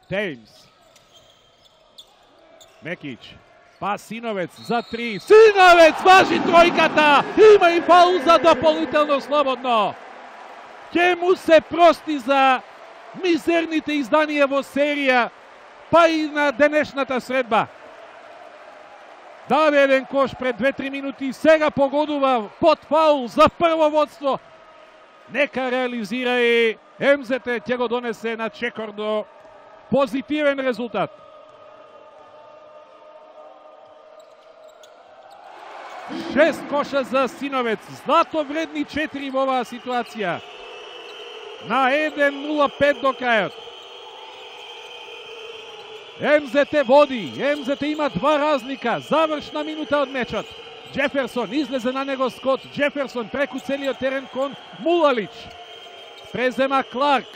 Теймс. Мекич. Па Синовец за 3. Синовец важи тројката. Има и фаул за дополнително слободно. Ке му се прости за мизерните изданија во серија, па и на денешната средба. Даде еден кош пред 2-3 минути и сега погодува под фаул за прво водство. Нека реализира и МЗТ ќе го донесе на чекор до позитивен резултат. Шест коша за Синовец, злато вредни 4 во оваа ситуација. На 1:05 до крајот. МЗТ води, МЗТ има 2 разлика, завршна минута од мечот. Джеферсон излезе на него Скот, Джеферсон преку целиот терен кон Мулалич. Презема Кларк.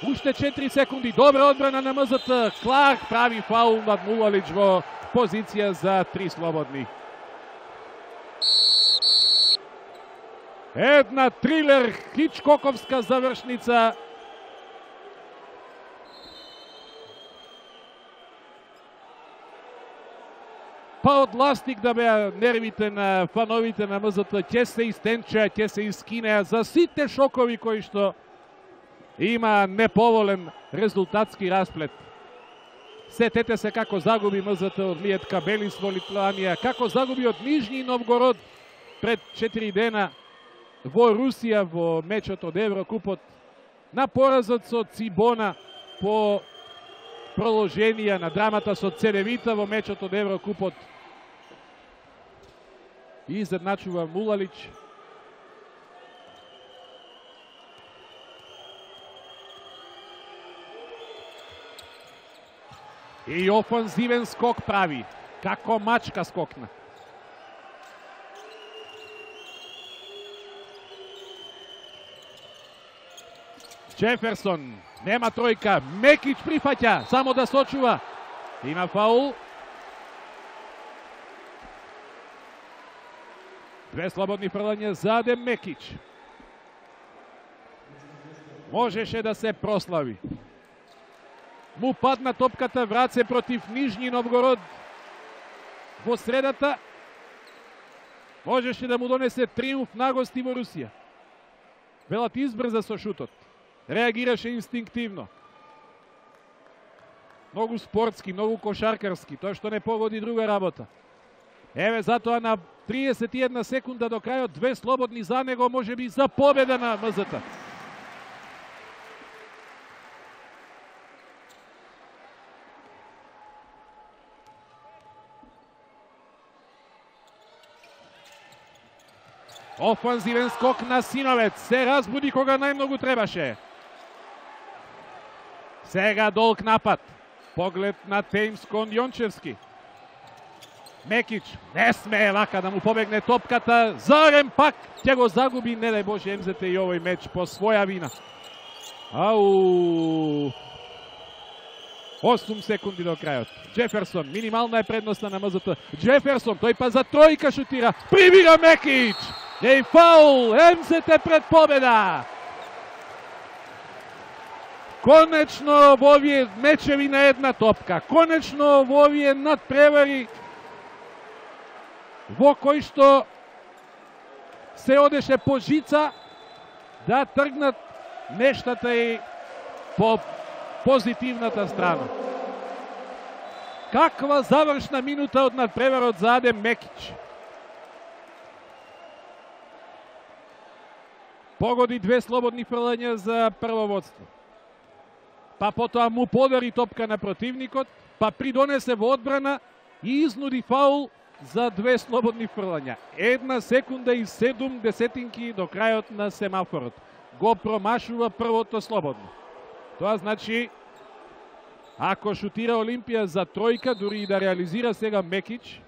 Уште 4 секунди, добра одбрана на МЗТ. Кларк прави фаул над Мулалич во позиција за 3 слободни. Една трилер, хичкоковска завршница. Па од ластик да беа нервите на фановите на МЗТ, ќе се истенчеа, ќе се искинеа за сите шокови кои што има неповолен резултатски расплет. Сетете се како загуби МЗТ од Лиет Кабелис во Литванија, како загуби од Нижни Новгород пред 4 дена во Русија во мечот од Еврокупот, на поразот со Цибона по проложенија на драмата со Цедевита во мечот од Еврокупот. И изедначува Мулалич. И офанзивен скок прави. Како мачка скокна. Джеферсон, нема тројка, Мекич прифаќа, само да сочува. Има фаул. 2 слободни фрлања за Адем Мекич. Можеше да се прослави. Му падна топката, враце против Нижни Новгород во средата. Можеше да му донесе триумф на гости во Русија. Белат избрза со шутот. Реагираше инстинктивно. Многу спортски, многу кошаркарски. Тоа што не погоди друга работа. Еве затоа на 31 секунда до крајот 2 слободни за него, може би за победа на МЗТ. Офанзивен скок на Синовец. Се разбуди кога најмногу требаше. Сега долг напад. Поглед на Теймс кон Јончевски. Мекич не смее вака да му побегне топката. Зарем пак ќе го загуби, не дај Боже, МЗТ и овој меч по своја вина. 8 секунди до крајот. Джеферсон, минимална е предноста на МЗТ. Джеферсон, тој па за тројка шутира. Прибира Мекич. Еј фаул, МЗТ пред победа. Конечно во овие мечеви на една топка, конечно во овие надпревари во кои што се одеше по жица, да тргнат нештата и по позитивната страна. Каква завршна минута од надпреварот за Адем Мекич. Погоди 2 слободни фрлања за прво водство. Па потоа му подари топка на противникот, па придонесе во одбрана и изнуди фаул за 2 слободни фрлања. 1 секунда и 7 десетинки до крајот на семафорот. Го промашува првото слободно. Тоа значи, ако шутира Олимпија за тројка, дури и да реализира сега Мекич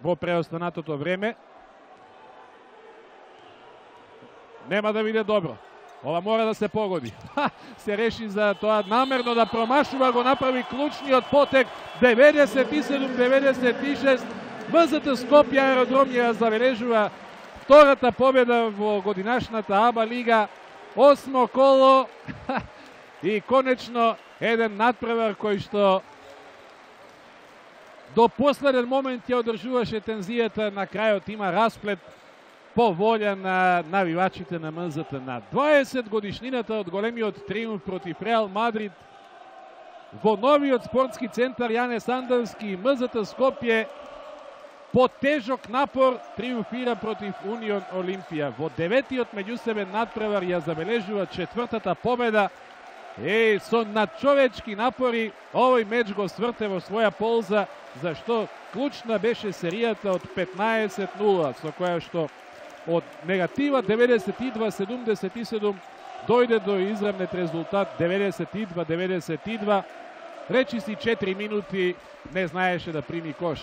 во преостанатото време, нема да биде добро. Ова мора да се погоди. Се реши за тоа намерно да промашува, го направи клучниот потек. 97-96. МЗТ Скопје аеродром ја забележува втората победа во годинашната АБА лига. 8 коло. И конечно еден надпревар кој што до последен момент ја одржуваше тензијата, на крајот има расплет по волја на навивачите на МЗТ. На 20 годишнината од големиот триумф против Реал Мадрид во новиот спортски центар Јане Сандовски, МЗТ Скопје по тежок напор триумфира против Унион Олимпија. Во деветиот меѓусебен надпревар ја забележува четвртата победа. Со надчовечки напори овој меч го сврте во своја полза, зашто клучна беше серијата од 15-0, со која што од негатива 92-77 дојде до изравнет резултат 92-92. Речиси 4 минути не знаеше да прими кош.